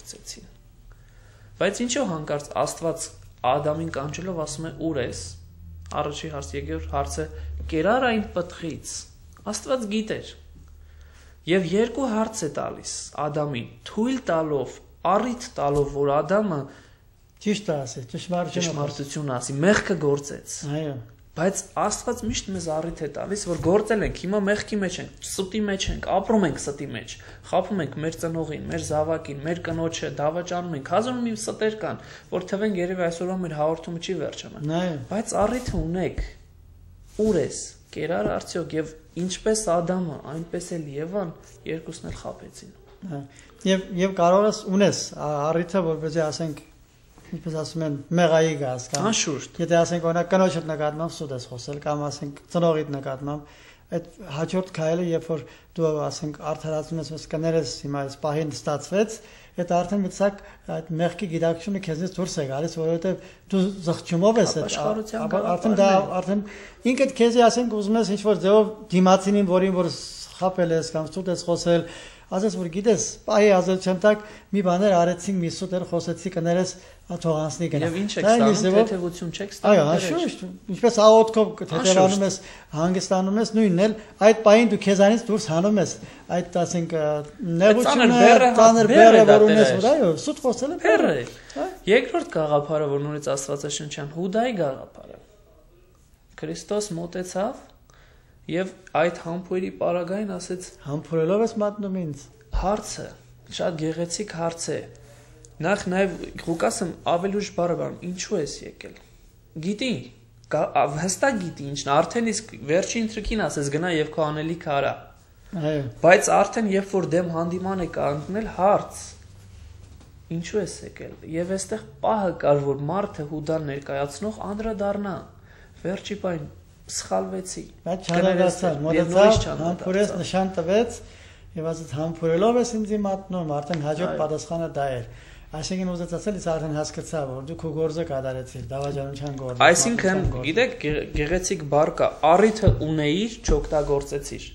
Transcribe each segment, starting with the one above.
գործեցին։ Բայց ինչու հանկարծ Աստված Ադամին կանչելով ասում է ուր ես։ Առաջի հարց, երկրորդ հարցը կերար այն պտղից։ Աստված գիտեր։ Եւ երկու հարց է տալիս Ադամին, թույլ տալով, առիթ տալով, որ Ադամը ճիշտ ասի, ճշմարտություն ասի, մեղքը գործեց։ Այո։ Բայց Աստված միշտ մեզ առիթ է տալիս, որ գործել ենք, հիմա մեղքի մեջ ենք, ստի մեջ ենք, ապրում ենք ստի մեջ, խաբում ենք մեր ծնողին, մեր զավակին, մեր կնոջը, դավաճանում ենք, հազար մի ստեր կան, որ թվենք երևի այսօրվա մեր հաղորդումը չի վերջանա։ Բայց առիթը ունեք, ուր ես, կերար արդյոք, եւ ինչպես Ադամը, այնպես էլ Եվան երկուսն էլ խաբեցին։ Եվ կարող ես ունես առիթը, որպեսզի ասենք ինչպես ասում են մեղայի գազ կամ անշուշտ եթե ասենք օրինակ կնոջդ նկատմամբ սուտ ես խոսել կամ ասենք ծնողիդ նկատմամբ այդ հաջորդ քայլը երբ որ դու ասենք արդարացնում ես կներես հիմա այս պահին ստացվեց այդ արդեն մի ցակ այդ մեղքի գիտակցությունը քեզից դուրս է գալիս որովհետև դու զղջումով ես արդեն ինքդ քեզի ասենք ուզում ես ինչ որ ձևով դիմացինին որին որ խապել ես կամ սուտ ես խոսել ասես որ գիտես պահի ազատության տակ մի բաներ արեցինք մի սուտեր խոսեցի կներես թողանցնի գնա եւ ինչ եք ստանում թեթևություն չեք ստանում այո հաշուշ ինչպես աղոթքով թեթևանում ես հանգստանում ես նույնն էլ այդ պահին դու քեզանից դուրս հանում ես այդ ասենք նեղությունը տաներ բերը որ ունես որ այո սուտ խոսելը բերը երկրորդ գաղափարը որ նորից Աստվածաշնչյան Հուդայի գաղափարը Քրիստոս մոտեցավ եւ այդ համբույրի պարագային ասեց համբուրելով ես մատնում ինձ հարցը շատ գեղեցիկ հարց է նախ նաեւ Ղուկասը ավելի ուշ բառը ինչու ես եկել գիտի հստակ գիտի ինչն արդեն իսկ վերջին թրքին ասես գնա եւ քո անելիքը արա այո բայց արդեն երբ որ դեմ հանդիման է կանգնել հարց ինչու ես եկել եւ այստեղ պահը կար որ մարդը Հուդան ներկայացնող անդրադառնա վերջի բան սխալվեցի բայց չարագացավ մոտեցավ համբուրես նշան տվեց եւ ասաց համբուրելով ես ինձ մատնում արդեն հաջորդ պատասխանը դա էր այսինքն ուզեց ասել ես արդեն հասկացա որ դու քո գործը կատարեցիր դավաճանության գործը այսինքն գիտեք գեղեցիկ բառ կա առիթը ունեիր չօգտագործեցիր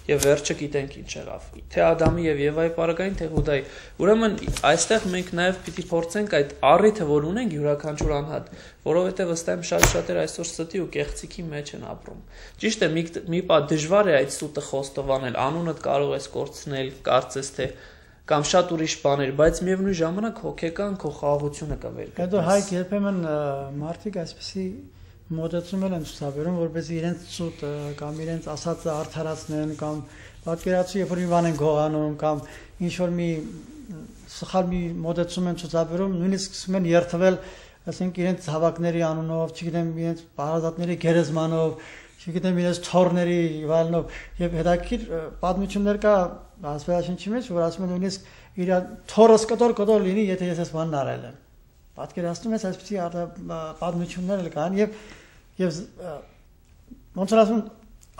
եւ վերջը գիտենք ինչ եղավ թե Ադամի եւ Եվայի պարագային թե Հուդայի ուրեմն այստեղ մենք նաեւ պիտի փորձենք այդ առիթը որ ունենք յուրաքանչյուր անհատ որովհետեւ ըստ եմ շատ-շատեր այսօր ստի ու կեղծիքի մեջ են ապրում ճիշտ է մի պա դժվար է այդ սուտը խոստովանել անունդ կարող ես կորցնել կարծես թե կամ շատ ուրիշ բաներ բայց միևնույն ժամանակ հոգեկան քո խաղաղությունը կվեր հետո հայք երբեմն մարդիկ այսպեսի մոտեցում են ցուցաբերում որպեսզի իրենց սուտը կամ իրենց ասածը արդարացնեն կամ պատկերացու երբ որ մի բան են գողանում կամ ինչ որ մի սխալ մի մոտեցում են ցուցաբերում նույնիսկ սկսում են երթվել ասենք իրենց հավաքների անունով չգիտեմ իրենց բարազատների գերեզմանով չգիտեմ իրենց թորների վալնով եւ հետաքրիր պատմություններ կա Աստվածաշնչի մեջ որ ասում են նույնիսկ իր թորս կտոր լինի եթե ես այս բանն արել եմ պատկերացնում ես այսպեսի պատմություններ կան եւ ոնց որ ասում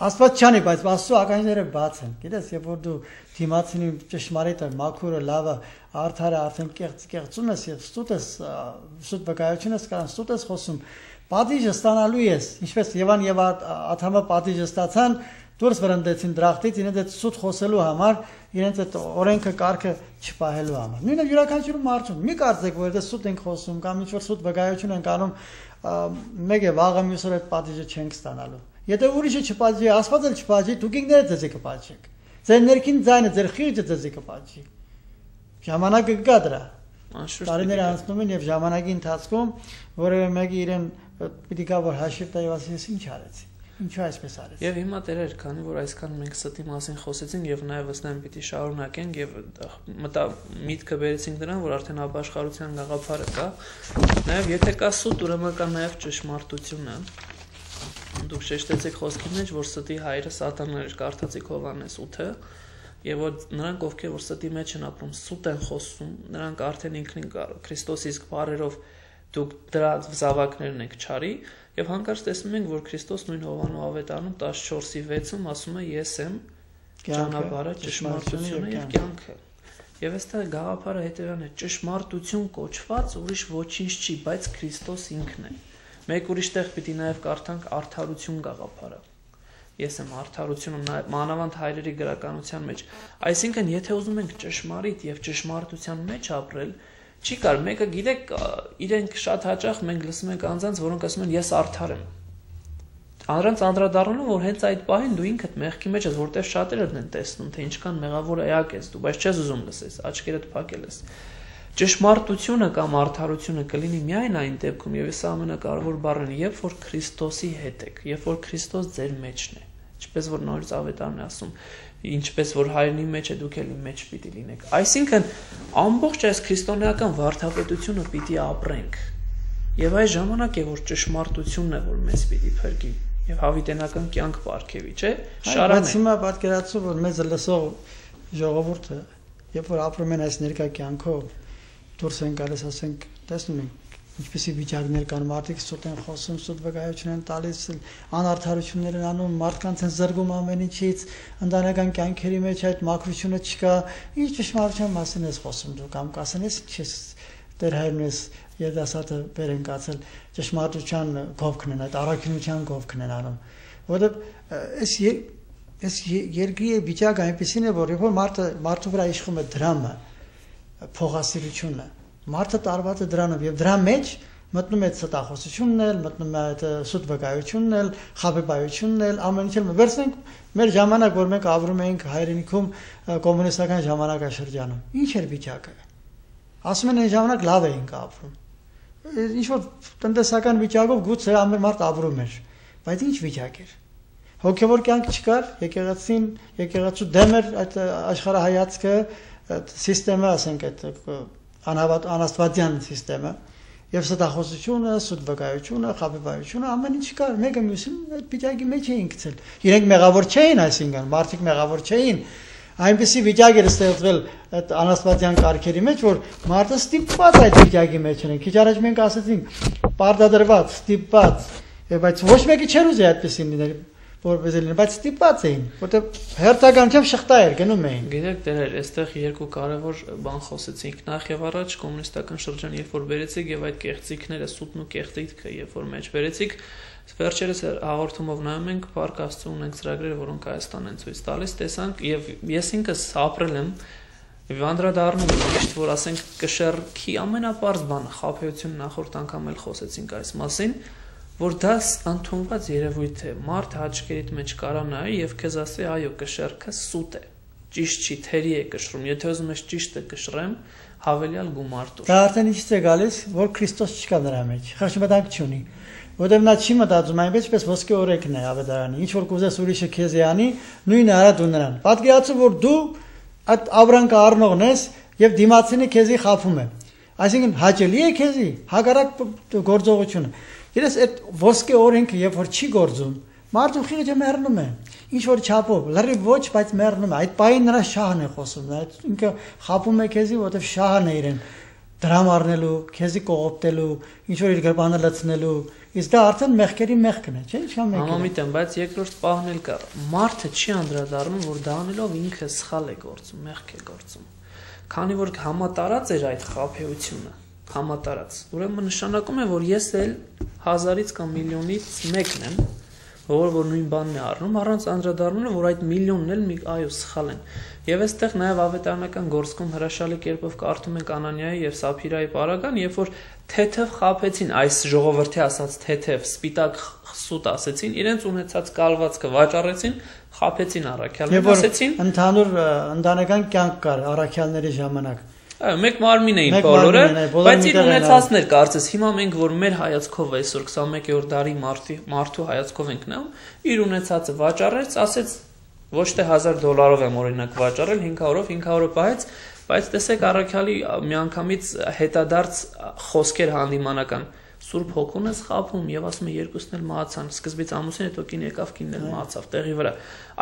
Աստված չանի բայց Աստծո ականջները բաց են գիտես երբ որ դու դիմացինի ճշմարիտը մաքուրը լավը արդարը արդեն կեղծում ես եւ սուտ վկայություն ես կան սուտ ես խոսում պատիժը ստանալու ես ինչպես Եվան եւ Ադամը պատիժը ստացան դուրս վրընդեցին դրախտից իրենց այդ սուտ խոսելու համար իրենց այդ օրենքը կարգը չպահելու համար նույնը յուրաքանչյուր մարդուն մի կարծեք որ դա սուտ ենք խոսում կամ ինչ որ սուտ վկայություն ենք անում մեկ է վաղը մյուս օր այդ պատիժը չենք ստանալու եթե ուրիշը չպատժի Աստված էլ չպատժի դուք ինքներդ ձեզ կպատժեք ձեր ներքին ձայնը ձեր խիղճը ձեզ կպատժի ժամանակը կգա դրա տարիները անցնում են եւ ժամանակի ընթացքում որևէ մեկը իրեն պիտի գա որ հաշիվ տա եւ ասի ես ինչ արեցի ինչու այսպես արեց եւ հիմա տերեր քանի որ այսքան մենք ստի մասին խոսեցինք եւ նաեւ ըստ պիտի շարունակենք եւ միտքը բերեցինք դրան որ արդեն ապաշխարության գաղափարը կա նաեւ եթե կա սուտ ուրեմն կա նաեւ ճշմարտությունը դուք շեշտեցիք խոսքի մեջ որ ստի հայրը սատանան էր կարդացիք Հովհաննես 8-ը եւ որ նրանք ովքեր որ ստի մեջ են ապրում սուտ են խոսում նրանք արդեն ինքնին Քրիստոսի իսկ բառերով դուք դրա զավակներն եք չարի եւ հանկարծ տեսնում ենք որ Քրիստոս նույն Հովհաննու ավետարանում 14:6-ում ասում է ես եմ ճանապարհը ճշմարտությունը եւ կյանքը եւ այստեղ գաղափարը հետեւյալն է ճշմարտություն կոչված ուրիշ ոչինչ չի բայց Քրիստոս ինքն է մեկ ուրիշ տեղ պիտի նաեւ կարդանք արդարություն գաղափարը Ես եմ արդարությունը մանավանդ հայրերի գրականության մեջ։ Այսինքն, եթե ուզում ենք ճշմարիտ եւ ճշմարտության մեջ ապրել, չի կար մեկը գիտեք, իրենք շատ հաճախ մենք լսում ենք անձանց, որոնք ասում են ես արդար եմ։ Առանց անդրադառնալու, որ հենց այդ պահին դու ինքդ մեղքի մեջ ես, որտեղ շատերը են տեսնում, թե ինչքան մեղավոր էակ ես դու, բայց չես ուզում լսես, աչքերդ փակել ես։ Ճշմարտությունը կամ արդարությունը կլինի միայն այն դեպքում, եւ սա ամենակարևոր բառն է, երբ որ Քրիստոսի հետ եք, երբ որ Քրիստոս ձեր մեջն է, ինչպես որ նորից ավետարն է ասում, ինչպես որ հայրենի մեջ է, դուք էլ իմ մեջ պիտի լինեք։ Այսինքն ամբողջ այս քրիստոնեական վարդապետությունը պիտի ապրենք։ Եվ այս ժամանակ է, որ ճշմարտությունն է, որ մեզ պիտի փրկի եւ հավիտենական կյանք ապարգևի, չէ՞։ Շարանը։ Հիմա պատկերացու, որ մեզ լսող ժողովուրդը, երբ որ ապրում են այս ներկա կյանքով, դուրս են գալիս, ասենք, տեսնում ենք, ինչպեսի վիճակներ կան, մարդիկ սուտ են խոսում, սուտ վկայություն են տալիս, անարդարություններ են անում, մարդկանց են զրկում ամեն ինչից, ընտանեկան կյանքերի մեջ այդ մաքրությունը չկա, ինչ ճշմարտության մասին ես խոսում դու, կամ կասեն ես ինչ ես Տեր հայրն ես երիտասարդը բեր են կացել ճշմարտության գովքն են, այդ առաքինության գովքն են անում, որովհետև այս երկրի վիճակը այնպեսին է, որ երբ որ մարդու վրա իշխում է դրամը, փողասիրությունը, մարդը տարված է դրանով եւ դրա մեջ մտնում է ստախոսությունն էլ, մտնում է այդ սուտ վկայությունն էլ, խաբեբայությունն էլ, ամեն ինչ էլ վերցնենք մեր ժամանակ, որ մենք ապրում էինք հայրենիքում կոմունիստական ժամանակաշրջանում։ Ինչ էր վիճակը։ Ասում են այն ժամանակ լավ էինք ապրում։ Ինչ որ տնտեսական վիճակով գուցե ամեն մարդ ապրում էր, բայց ինչ վիճակ էր։ Հոգևոր կյանք չկար, եկեղեցու դեմ էր այդ աշխարհայացքը, սիստեմը, ասենք այդ անաստվածյան սիստեմը եւ ստախոսությունը, սուտ վկայությունը, խաբեբայությունը ամեն ինչ կար, մեկը մյուսին այդ վիճակի մեջ էին գցել։ Իրենք մեղավոր չէին, այսինքն մարդիկ մեղավոր չէին։ Այնպեսի վիճակ էր ստեղծվել այդ անաստվածյան կարգերի մեջ, որ մարդը ստիպված այդ վիճակի մեջ են։ Քիչ առաջ մենք ասացինք պարտադրված, ստիպված, բայց ոչ մեկը չէր ուզի այդպեսին լինել, որպես լինել, բայց ստիպված էին, որտեղ հերթականությամբ շղթա էր գնում էին։ Գիտեք, դեր այստեղ երկու կարևոր բան խոսեցինք։ Նախ եւ առաջ կոմունիստական շրջան, երբ որ բերեցիք եւ այդ կեղծիքները, սուտն ու կեղծիքը, երբ որ մեջ բերեցիք, վերջերս հաղորդումով նայում ենք, Փառք Աստծո ունենք ծրագրերը, որոնք Հայաստան են ցույց տալիս, տեսանք եւ ես ինքս ապրել եմ Վանդրադառնում միշտ որ ասենք կշեռքի ամենապարզ բանը խաբեությունը նախորդ անգամ էլ խոսեցինք այս մասին, որ դա ընդունված երևույթ է, մարդ հաճկերիդ մեջ կարա նայի եւ քեզ ասի, այո, կշեռքը սուտ է, ճիշտ չի, թերի է կշռում, եթե ուզում ես ճիշտը կշռեմ, հավելյալ գումար տուր։ Դա արդեն ինչ է գալիս, որ Քրիստոս չկա նրա մեջ, խղճմտանք չունի, որտեղ նա չի մտածում այնպես ոսկե օրենքն է ավետարանի, ինչ որ կուզես ուրիշը քեզ անի, նույնը արա դու նրան։ Պատկերացու, որ դու այդ ավրանքը առնողն ես եւ դիմացինը քեզի խափում է։ Այսինքն հաճելի է քեզի հակառակ գործողությունը։ Իրես այդ ոսկե օրենքը երբ որ չի գործում, մարդու խիղճը մեռնում է, ինչ որ չափով, լրիվ ոչ, բայց մեռնում է։ Այդ պահին նրա շահն է խոսում, այդ ինքը խափում է քեզի, որովհետև շահն է իրեն դրամ առնելու, քեզի կողոպտելու, ինչ որ իր գրպանը լցնելու, իսկ դա արդեն մեղքերի մեղքն է, չէ՞, ինչքան մեղք է։ Համամիտ եմ, բայց երկրորդ պահն էլ կա։ Մարդը չի անդրադառնում, որ դա անելով ինքը սխալ է գործում, մեղք է գործում։ Քանի որ համատարած էր այդ խաբեությունը, համատարած։ Ուրեմն նշանակում է, որ ես էլ 1000-ից կամ միլիոնից մեկն եմ, որ նույն բանն է առնում, առանց անդրադառնալու, որ այդ միլիոնն էլ այո սխալ են։ Եվ այստեղ նաև ավետարանական գործքում հրաշալի կերպով կարդում ենք Անանիայի եւ Սափիրայի պարագան, երբ որ թեթև խաբեցին, այս ժողովրդի ասած թեթև սպիտակ սուտ ասեցին, իրենց ունեցած կալվածքը վաճառեցին, խաբեցին առաքյալներին, ասեցին ընդհանուր ընտանեկան կյանք կար առաքյալների ժամանակ։ Մեկ մարմին էին բոլորը, բայց իր ունեցածներ կարծես հիմա մենք որ մեր հայացքով այսօր 21-րդ դարի մարդու հայացքով ենք նայում, իր ունեցածը վաճառեց, ասեց ոչ թե $1000 եմ օրինակ վաճառել 500-ով 500-ը պահեց, բայց տեսեք առաքյալի միանգամից հետադարձ խոսքեր հանդիմանական Սուրբ Հոգուն ես խափում եւ ասում է երկուսն էլ մահացան, սկզբից ամուսին, հետո կին եկավ, կինն էլ մահացավ տեղի վրա։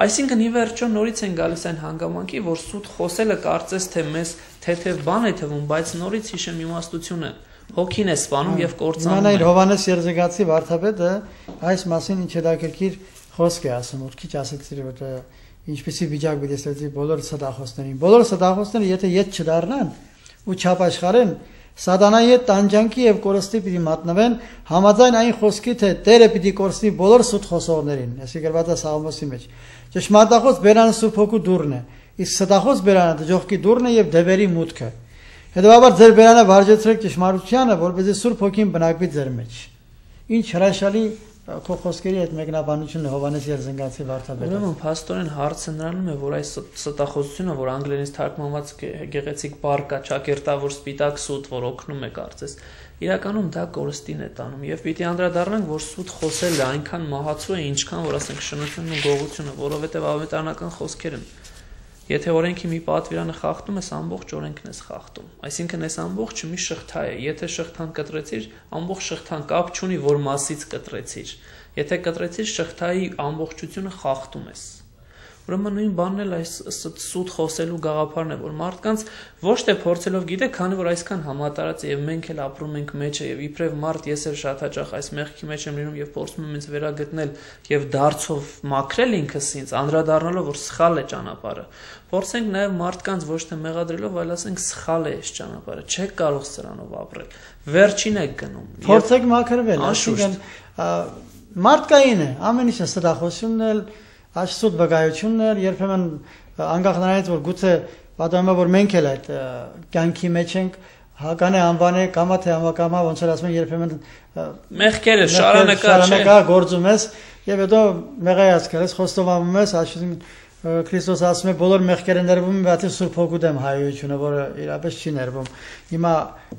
Այսինքն ի վերջո նորից են գալիս այն հանգամանքի, որ սուտ խոսելը կարծես թե մեզ թեթև բան է թվում, բայց նորից հիշեմ իմաստությունը հոգին է սպանում եւ կործանում։ Մանայր Հովանես Երզեգացի վարդապետը այս մասին ինչ հետաքրքիր խոսք է ասում, որ քիչ ասեցի, որ ինչպեսի վիճակ պիտի ստեղծի բոլոր ստախոսներին։ Բոլոր ստախոսները եթե ետ չդառնան ու չապաշխարեն, Սատանայի հետ տանջանքի եւ կորստի պիտի մատնվեն համաձայն այն խոսքի թե Տերը պիտի կորստի բոլոր սուտ խոսողներին, այսի գրված է Սաղմոսի մեջ։ Ճշմարտախոս բերանը Սուրբ Հոգու դուռն է, իսկ ստախոս բերանը դժոխքի դուռն է եւ դևերի մուտքը։ Հետևաբար ձեր բերանը վարժեցրեք ճշմարտությանը, որպեսզի Սուրբ Հոգին բնակվի ձեր մեջ։ Ինչ հրաշալի քո խոսքերի այդ մեկնաբանությունը Հովհաննես Երզնգացի վարդապետը։ Ուրեմն փաստորեն հարցը նրանում է, որ այս ստախոսությունը, որ անգլերենից թարգմանված գեղեցիկ բառ կա, ճակերտավոր սպիտակ սուտ, որ օգնում է կարծես, իրականում դա կորստին է տանում եւ պիտի անդրադառնանք, որ սուտ խոսելը այնքան մահացու է, ինչքան որ ասենք շնությունն ու գողությունը, որովհետեւ ավետարանական խոսքեր են։ Եթե օրենքի մի պատվիրանը խախտում ես, ամբողջ օրենքն ես խախտում։ Այսինքն այս ամբողջը մի շղթա է։ Եթե շղթան կտրեցիր, ամբողջ շղթան կապ չունի, որ մասից կտրեցիր։ Եթե կտրեցիր, շղթայի ամբողջությունը խախտում ես։ Ուրեմն նույն բանն էլ այս սուտ խոսելու գաղափարն է, որ մարդկանց ոչ թե փորձելով գիտեք, քանի որ այսքան համատարած է եւ մենք էլ ապրում ենք մեջը եւ իբրև մարդ ես էլ շատ հաճախ այս մեղքի մեջ եմ լինում եւ փորձում եմ ինձ վերագտնել եւ դարձով մաքրել ինքս ինձ, անդրադառնալով որ սխալ է ճանապարհը։ Փորձենք նաեւ մարդկանց ոչ թե մեղադրելով, այլ ասենք սխալ է այս ճանապարհը, չեք կարող սրանով ապրել։ Վերջին եք գնում։ Փորձեք մաքրվել, այսինքն մարդկային է, ամեն ինչը ստախոսությունն է, Աշսուտ բգայությունն էր, երբեմն անկախ նրանից, որ գուցե պատահում է, որ մենք էլ այդ կյանքի մեջ ենք, հական է անվան է, կամա թե համակամա, ոնց որ ասում են, երբեմն մեղքերը շարանակա գործում ես, եւ հետո մեղայացքել ես, խոստովանում ես, այսինքն Քրիստոս ասում է բոլոր մեղքերը ներվում են, բացի Սուրբ Հոգու դեմ հայությունը, որը իրապես չի ներվում։ Հիմա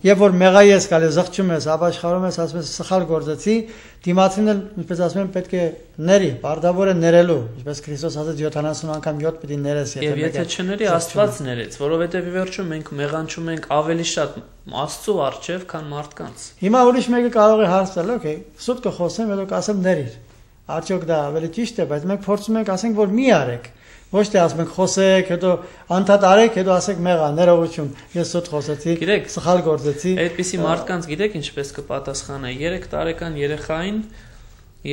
երբ որ մեղայի ես գալիս, զղջում ես, ապաշխարում ես, ասում ես սխալ գործեցի, դիմացին էլ, ինչպես ասում են, պետք է ների, բարդավոր է ներելու, ինչպես Քրիստոս ասաց 70 անգամ 7 պիտի ներես, եթե չների, Աստված ներեց, որովհետև ի վերջո մենք մեղանչում ենք ավելի շատ Աստծո առջև, քան մարդկանց։ Հիմա ուրիշ մեկը կարող է հարց տալ, օքեյ, սուտ կխոսեմ, հետո կասեմ ներիր։ Արդյոք դա ավելի ճիշտ է, բայց մենք փորձում ենք ասենք, որ մի արեք։ Ոչ թե ասում ենք խոսեք, հետո անդադ արեք, հետո ասեք մեղա, ներողություն, ես սուտ խոսեցի, սխալ գործեցի։ Այդպիսի մարդկանց գիտեք ինչպես կպատասխանե 3 տարեկան երեխային,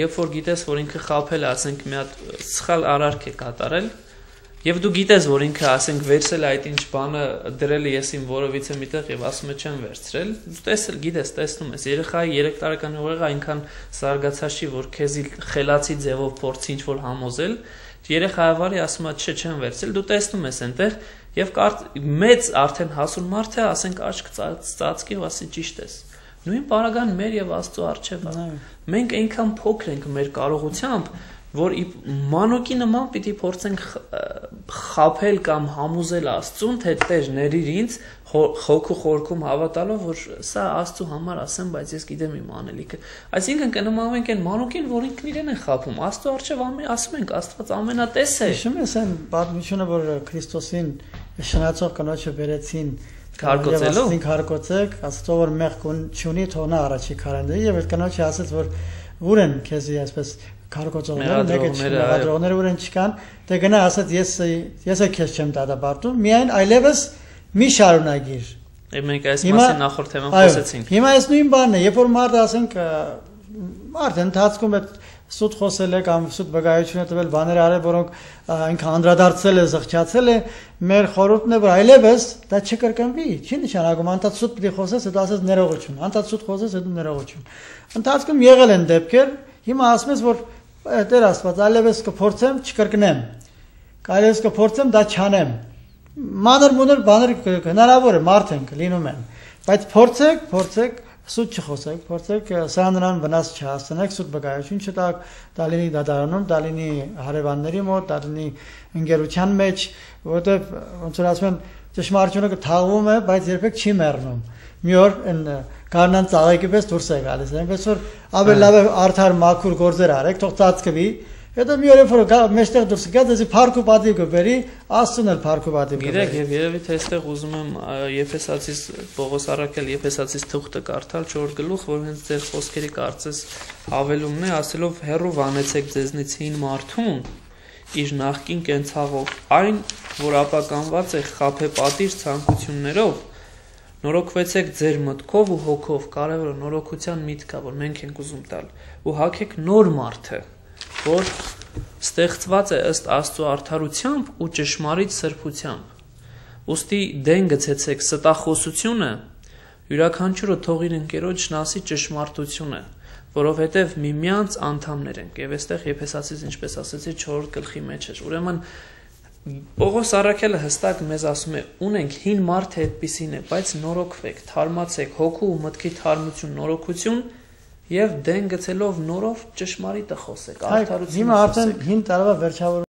երբ որ գիտես, որ ինքը խաբել է, ասենք մի հատ սխալ արարք է կատարել, եւ դու գիտես, որ ինքը ասենք վերցել այդ ինչ բանը դրել է ես իմ որովիցե միտեղ եւ ասում է չեմ վերցրել, դու տեսել գիտես, տեսնում ես, երեխայի 3 տարեկան ուղեղը այնքան զարգացած չի, որ քեզի խելացի ձևով փորձի ինչ որ համոզել, երեխայավարի ասում է չէ չեմ վերցրել, դու տեսնում ես այնտեղ եւ մեծ արդեն հասուն մարդ է, ասենք աչք ծածկի ու ասի ճիշտ ես։ Նույն բaragան մեր եւ Աստծո առջև է։ Մենք այնքան փոքր ենք մեր կարողությամբ, որ մանուկի նման պիտի փորձենք խաբել կամ համոզել Աստծուն, թե Տեր ներիր ինձ հոգու խորքում հավատալով, որ սա Աստծո համար ասեմ, բայց ես գիտեմ իմ անելիքը։ Այսինքն կնմանվենք այն մանուկին, որ ինքն իրեն է խաբում։ Աստծո առջև ասում ենք, Աստված ամենատես է։ Հիշում ես այն պատմությունը, որ Քրիստոսին շնացող կնոջը բերեցին քարկոծելով, քարկոծեք, Աստծո որ մեղք չունի, թող նա առաջի քարանդի, եւ այդ կնոջը ասաց, որ ուր են քեզի այսպես քարկոծողները, մեղադրողները ուր են չկան, դե գնա ասաց ես քեզ չեմ դատապարտում, միայն այլևս մի շարունակիր։ Մենք այս մասին նախորդ թեման խոսեցինք։ Հիմա այս նույն բանն է, երբ որ մարդը ասենք մարդը ընթացքում է սուտ խոսել է կամ սուտ բգայություն է տվել, բաներ արել, որոնք այնքան անդրադարձել է, զղջացել է, մեր խորհուրդն է, որ այլևս դա չկրկնվի, չի նշանակում անդադ սուտ պիտի խոսես, հետո ասես ներողություն, անդադ սուտ խոսես, հետո ներողություն։ Ընթացքում եղել են դեպքեր, հիմա ասում ես, որ Տեր Աստված, այլևս կփորձեմ չկրկնեմ։ Այլևս կփորձեմ դա չանեմ։ Մանր-մունր բաներ հնարավոր է, մարդ ենք, լինում են։ Բայց փորձեք սուտ չխոսեք, փորձեք սրան նրան վնաս չհասցնեք, սուտ բգայություն չտաք, դա լինի դատարանում, դա լինի հարևանների մոտ, դա լինի ընկերության մեջ, որովհետև ոնց որ ասում են, ճշմարտությունը կթաղվում է, բայց երբեք չի մեռնում։ Մի օր այն գարնան ծաղիկի պես դուրս է գալիս, այնպես որ ավելի լավ է արդար մաքուր գործեր արեք, թող ծածկվի, հետո մի օր որ մեջտեղ դուրս գա, դեզի փառք ու պատիվ կբերի, Աստծուն էլ փառք ու պատիվ կբերի։ Գիտեք, եւ երևի թե այստեղ ուզում եմ Եփեսացիս Պողոս առաքել Եփեսացիս թուղթը կարդալ 4 գլուխ, որ հենց ձեր խոսքերի կարծես հավելումն է, ասելով հերո վանեցեք ձեզնից հին մարդուն իր նախկին կենցաղով, այն, որ ապականված է խաբե պատիժ ցանկություններով, նորոգվեցեք ձեր մտքով ու հոգով, կարևորը նորոգության միտքա, որ մենք ենք ուզում տալ, ու հագեք նոր մարդը, որ ստեղծված է ըստ Աստծո արդարությամբ ու ճշմարիտ սրբությամբ։ Ուստի դեն գցեցեք ստախոսությունը յուրաքանչյուրը թող իր ընկերոջն ասի ճշմարտությունը, որովհետև միմյանց անդամներ ենք, եւ այստեղ Եփեսացիս, ինչպես ասեցի, 4-րդ գլխի մեջ էր։ Ուրեմն Պողոս Առաքյալը հստակ մեզ ասում է, ունենք հին մարդը այդպիսին է, բայց նորոգվեք, թարմացեք, հոգու ու մտքի թարմություն, նորոգություն եւ դեն գցելով նորով ճշմարիտը խոսեք, արդարություն խոսեք։ Հիմա արդեն հին տարվա վերջավոր